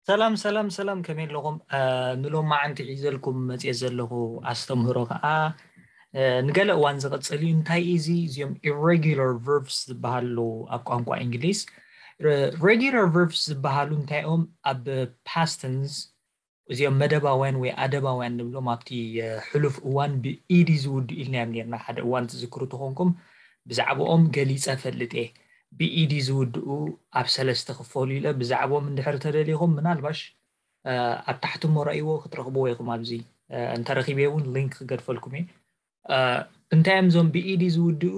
ሰላም ሰላም ሰላም፣ ከመይ ኣለኹም? ንሎማዓንቲ ሒዘልኩም መፅየ ዘለኹ ኣስተምህሮ ከዓ ንገለ እዋን ዝቕፅል እዩ። እንታይ እዩ እዚ? እዚኦም irregular verbs ዝበሃሉ ኣብ ቋንቋ እንግሊዝ። Regular verbs ዝበሃሉ እንታይ እዮም? ኣብ past tense እዚኦም መደባውያን ወይ ኣደባውያን ንብሎም ኣብቲ ሕሉፍ እዋን ብኢዲ ዝውድኡ ኢልናዮም ነርና። ሓደ እዋን ትዝክሩ ተኾንኩም ብዛዕባኦም ገሊፀ ፈልጥ እየ። ብኢዲ ዝውድኡ ኣብ ሰለስተ ክፈሉ ኢለ ብዛዕባኦም እንድሕር ተደሊኹም ምናልባሽ ኣብ ታሕቲ እሞ ረእይዎ ክትረኽብዎ ኢኹም። ኣብዚ እንተረኺበ እውን ሊንክ ክገድፈልኩም እየ። እንታይ እዮም እዞም ብኢዲ ዝውድኡ?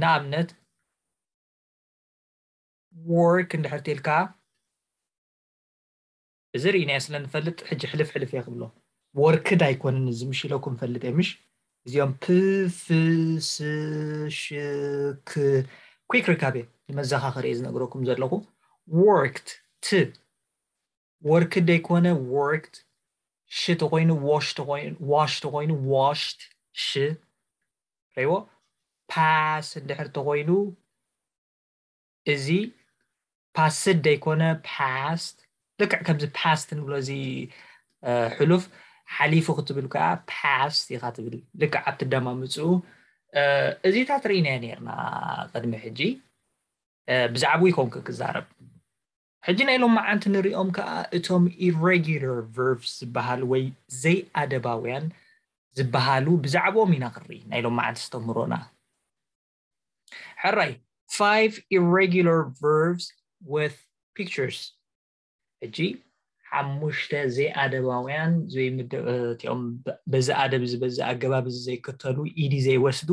ንኣብነት ወርክ እንድሕር ተልካ እዚ ርኢናዮ ስለ ንፈልጥ ሕጂ ሕልፍ ሕልፍ እየ ክብሎ። ወርክድ ኣይኮንን እዚ ምሽ ኢለኩም ፈልጥ እየ ምሽ። እዚኦም ፕፍስሽክ quick recap እየ ንመዘኻኸሪ እየ ዝነግረኩም ዘለኹ። ወርክት ት ወርክድ ዘይኮነ ወርክት ሽ ተኮይኑ ዋሽ ተኮይኑ ዋሽ ተኮይኑ ዋሽት ሽ ረይዎ ፓስ እንድሕር ተኮይኑ እዚ ፓስድ ዘይኮነ ፓስት ልክዕ ከምዚ ፓስት ንብሎ እዚ ሕሉፍ ሓሊፉ ክትብል ከዓ ፓስት ኢካ ትብል። ልክዕ ኣብቲ ደማምፅኡ እዚታት ርኢናዮ ነርና ቅድሚ ሕጂ ብዛዕባኡ ይኮንኩ ክዛረብ። ሕጂ ናይ ሎማዓንቲ ንሪኦም ከዓ እቶም irregular verbs ዝበሃሉ ወይ ዘይኣደባውያን ዝበሃሉ ብዛዕባኦም ኢና ክርኢ ናይ ሎማዓንቲ ኣስተምህሮና። ሕራይ five irregular verbs with pictures። ሕጂ ሓሙሽተ ዘይኣደባውያን እቲኦም በዚ ኣደብ እዚ በዚ ኣገባብ እዚ ዘይክተሉ ኢዲ ዘይወስዱ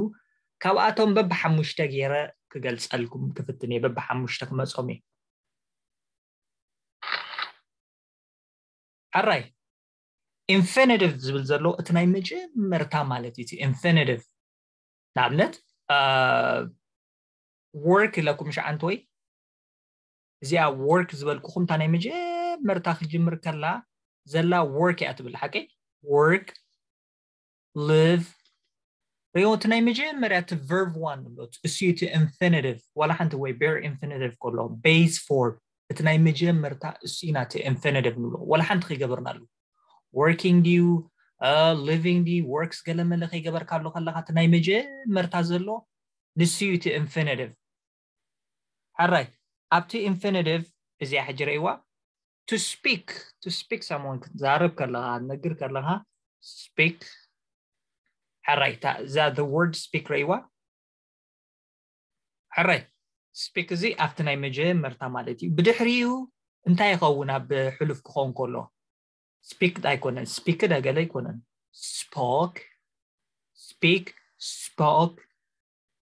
ካብኣቶም በብሓሙሽተ ገይረ ክገልፀልኩም ክፍትን እየ። በብሓሙሽተ ክመፆም እየ። ሕራይ infinitive ዝብል ዘሎ እቲ ናይ መጀመርታ ማለት እዩ። እቲ infinitive ንኣብነት ወርክ ኢለኩም ሸዓንተ ወይ እዚኣ ወርክ ዝበልኩኹም እታ ናይ መጀመርታ ክጅምር ከላ ዘላ ወርክ እያ ትብል ሓቂ። ወርክ ሊቭ ሪኦ እቲ ናይ መጀመርያ እቲ verb one ንብሎ እሱ እቲ infinitive ዋላ ሓንቲ ወይ bare infinitive ከሎ base form እቲ ናይ መጀመርታ እሱ ኢና እቲ infinitive ንብሎ ዋላ ሓንቲ ከይገበርናሉ working ድዩ living ድዩ works ገለመለ ከይገበርካሉ ከለካ እቲ ናይ መጀመርታ ዘሎ ንሱ እዩ እቲ infinitive። ሕራይ ኣብቲ infinitive እዚኣ ሕጂ ረእይዋ to speak to speak someone ክትዛረብ ከለካ ክትነግር ከለካ speak ሕራይ እዛ the word speak ረእይዋ ሕራይ speak እዚ ኣብቲ ናይ መጀመርታ ማለት እዩ። ብድሕሪኡ እንታይ ይኸውን ኣብ ሕሉፍ ክኸውን ከሎ speak ኣይኮነን speak ደገለ ኣይኮነን spoke speak spoke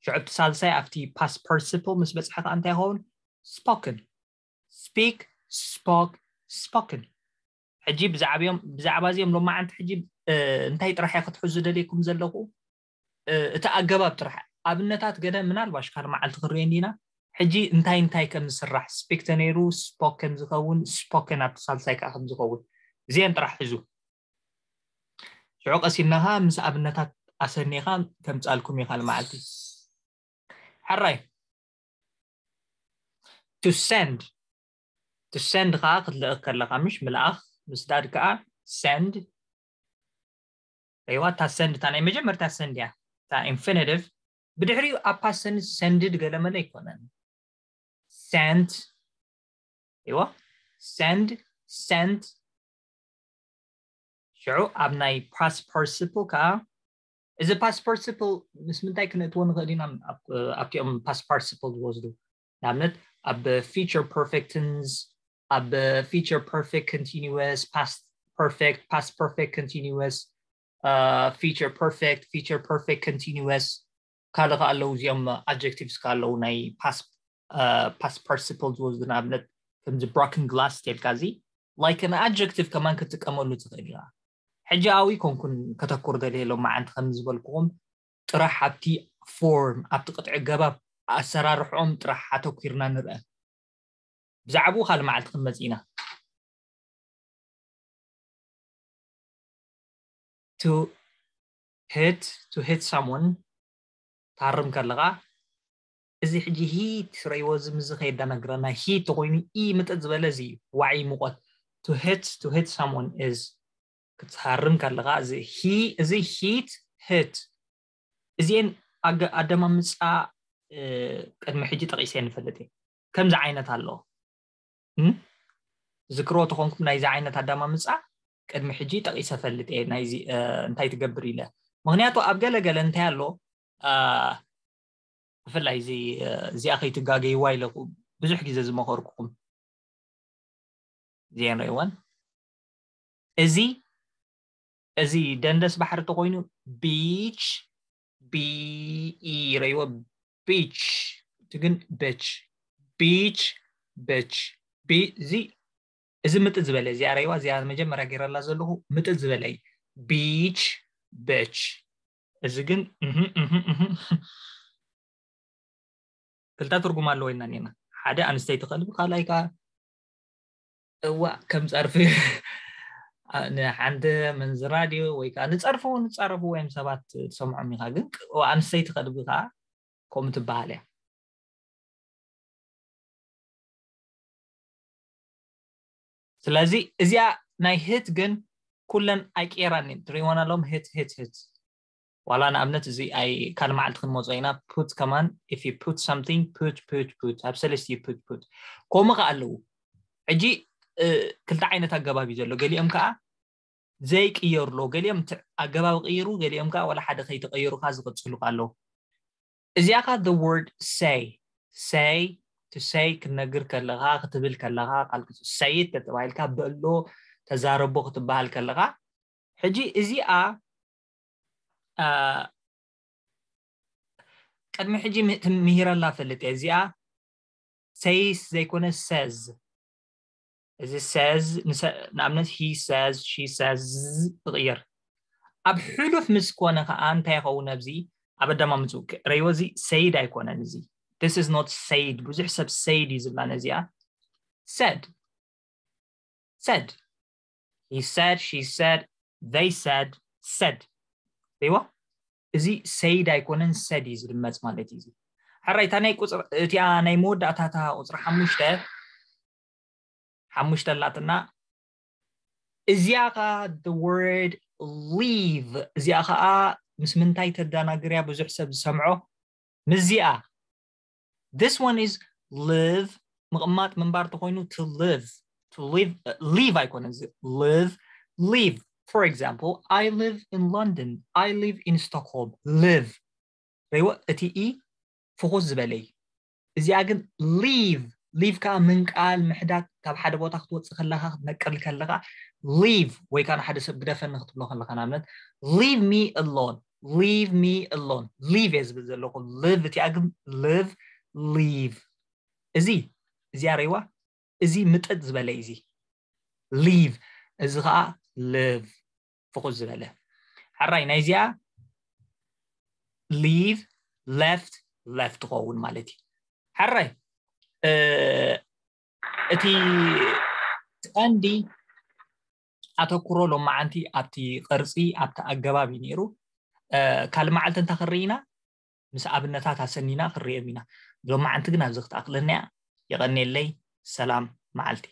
ሽዑ እቲ ሳልሳይ ኣብቲ past participle ምስ በፅሐ ከዓ እንታይ ይኸውን spoken speak spoke spoken። ሕጂ ብዛዕባ እዚኦም ሎማዓንቲ ሕጂ እንታይ ጥራሕ እየ ክትሕዙ ደልየኩም ዘለኹ እቲ ኣገባብ ጥራሕ ኣብነታት ገለ ምናልባሽ ካልእ መዓልቲ ክንሪኦ እንዲና። ሕጂ እንታይ እንታይ ከም ዝስራሕ speak ተነይሩ spoke ከም ዝኸውን spoken ኣብቲ ሳልሳይ ከዓ ከም ዝኸውን እዚአን ጥራሕ ሕዙ። ሽዑ ቀሲልና ከዓ ምስ ኣብነታት ኣሰኒኻ ከምፃልኩም እየ ካልእ መዓልቲ። ሕራይ to send to send ከዓ ክትልእኽ ከለካ ምሽ ምልኣኽ ምስዳድ ከዓ send ሪዋ እታ send እታ ናይ መጀመርታ send እያ እታ infinitive ብድሕሪኡ ኣብ past tense sended ገለመለ ኣይኮነን sent ሪዋ send sent ሽዑ ኣብ ናይ past participle ከዓ እዚ past participle ምስ ምንታይ ክነእትዎ ንኽእል ኢና ኣብቲኦም past participle ዝወስዱ ንኣብነት ኣብ future perfect tense ኣብ future perfect continuous past perfect past perfect continuous future perfect future perfect continuous ካልእ ከዓ ኣለዉ እዚኦም adjectives ከዓ ኣለዉ ናይ past past participle ዝወስዱ ንኣብነት ከምዚ broken glass ተልካ እዚ like an adjective ከማን ክትጥቀመሉ ትኽእል ኢኻ። ሕጂ ኣብኡ ኣይኮንኩን ከተኩር ደልየ ሎማዓንቲ ከም ዝበልኩኹም ጥራሕ ኣብቲ form ኣብቲ ቅጥዒ ኣገባብ ኣሰራርሕኦም ጥራሕ ኣተኲርና ንርአ። ብዛዕባኡ ካልእ መዓልቲ ክንመጽእ ኢና። to hit to hit someone ታርም ከለኻ እዚ ሕጂ ሂት ረይዎ እዚ ምዚ ከየዳናግረና ሂት ተኮይኑ ኢ ምጥጥ ዝበለ እዚ እዩ። ዋዒ ሙቐት to hit to hit someone is ክትሃርም ከለኻ እዚ ሂ እዚ ሂት ህት እዚኤን ኣገ- ኣደማምፃ እ፣ ቅድሚ ሕጂ ጠቂሰ ንፈልጥ እየ። ከምዚ ዓይነት ኣሎ እም? ዝክሮ ተኾንኩም ናይዚ ዓይነት ኣደማምፃ ቅድሚ ሕጂ ጠቂሰ ፈልጥ እየ ናይዚ እ፣ እንታይ ትገብር ኢለ። ምክንያቱ ኣብ ገለ ገለ እንታይ ኣሎ እ፣ ብፍላይ እዚ እ፣ እዚኣ ከይትጋገይዋ ኢለ ብዙሕ ግዜ ዝመኸርኩኹም ዜን ረይወን እዚ እዚ ደንደስ ባሕሪ ተኮይኑ ቢች ቢኢ ረይወ ቢች እቲ ግን በች ቢች በች እዚ እዚ ምጥጥ ዝበለ እዚኣ ረይዋ እዚኣ መጀመርያ ገይረላ ዘለኹ ምጥጥ ዝበለ እዩ። ቢች በች እዚ ግን እህ፣ እህ፣ እህ። ክልተ ትርጉም ኣለዎ ኢና ኔና ሓደ ኣንስተይቲ ከልቢ ካልኣይ ከዓ እዋ ከም ፀርፊ ንሓንቲ መንዝራ ድዩ ወይ ከዓ ንፀርፉ ንፃረፉ ወይም ሰባት ትሰምዖም ኢኻ ግን እዋ ኣንስተይቲ ከልቢ ከዓ ከምኡ ትበሃል እያ። ስለዚ እዚኣ ናይ ህት ግን ኩለን ኣይቀየራን እየን ትሪእወን ኣለዎም ህት ህት ህት ዋላ ንኣብነት እዚ ኣይ ካልእ መዓልቲ ክንመፅኦ ኢና put ከማን if you put something put put put ኣብ ሰለስቲኡ put put ከምኡ ከዓ ኣለዉ ሕጂ እ፣ ክልተ ዓይነት ኣገባብ እዩ ዘሎ ገሊኦም ከዓ ዘይቅየሩ ኣለዉ ገሊኦም እቲ ኣገባብ ቅይሩ ገሊኦም ከዓ ዋላ ሓደ ከይተቀየሩ ከዓ ዝቅፅሉ ከዓ ኣለዉ እዚኣ ከዓ the word say say to say ክትነግር ከለካ ክትብል ከለካ ቃል ሰይት ተባሂልካ በሎ ተዛረቦ ክትበሃል ከለካ ሕጂ እዚኣ አ፣ ቅድሚ ሕጂ ም- ምሂረላ ፈልጥ እየ እዚኣ ሰይስ ዘይኮነ ሰዝ እዚ ሰዝ ንኣብነት he says she says ትቕየር ኣብ ሕሉፍ ምስ ኮነ ከዓ እንታይ ይኸውን ኣብዚ ኣብ ኣዳማምፅኡ ረይዎ እዚ ሰይድ ኣይኮነን እዚ this is not ሰይድ ብዙሕ ሰብ ሰይድ እዩ ዝብላ ነዚኣ said said he said she said they said said ሪዎ እዚ ሰይድ ኣይኮነን ሰድ እዩ ዝድመፅ ማለት እዩ ሕራይ እታ ናይ ቁፅር እቲኣ ናይ መወዳእታታ ቁፅሪ ሓሙሽተ ሓሙሽተ ኣላትና እዚኣ ከዓ the word leave እዚኣ ከዓ ምስ ምንታይ ተደናግርያ ብዙሕ ሰብ ዝሰምዖ ምስዚኣ this one is live ምቕማጥ ምንባር ተኮይኑ to live to live live ኣይኮነ እዚ live live for example I live in London I live in Stockholm live ረይዎ እቲ ኢ ፍኹስ ዝበለ እዩ እዚኣ ግን leave leave ከዓ ምንቃል ምሕዳግ ካብ ሓደ ቦታ ክትወፅእ ከለካ ክትነቅል ከለካ leave ወይ ከዓ ንሓደ ሰብ ግደፈኒ ክትብሎ ከለካ ንኣብነት leave me alone leave me alone leave እየ ዝብል ዘለኩ live እቲኣ ግን live leave እዚ እዚኣ ረይዋ እዚ ምጥጥ ዝበለ እዩ እዚ leave እዚ ከዓ live ፍኹስ ዝበለ ሕራይ ናይዚኣ leave left left ትኸውን ማለት እዩ ሕራይ እቲ ቀንዲ ኣተኩሮ ሎማዓንቲ ኣብቲ ቅርፂ ኣብቲ ኣገባብ እዩ ነይሩ ካልእ መዓልቲ እንታ ክርኢና ምስ ኣብነታት ኣሰኒና ክርኦም ኢና ሎማዓንቲ ግን ኣብዚ ክትኣክለና እያ የቐንየለይ ሰላም መዓልቲ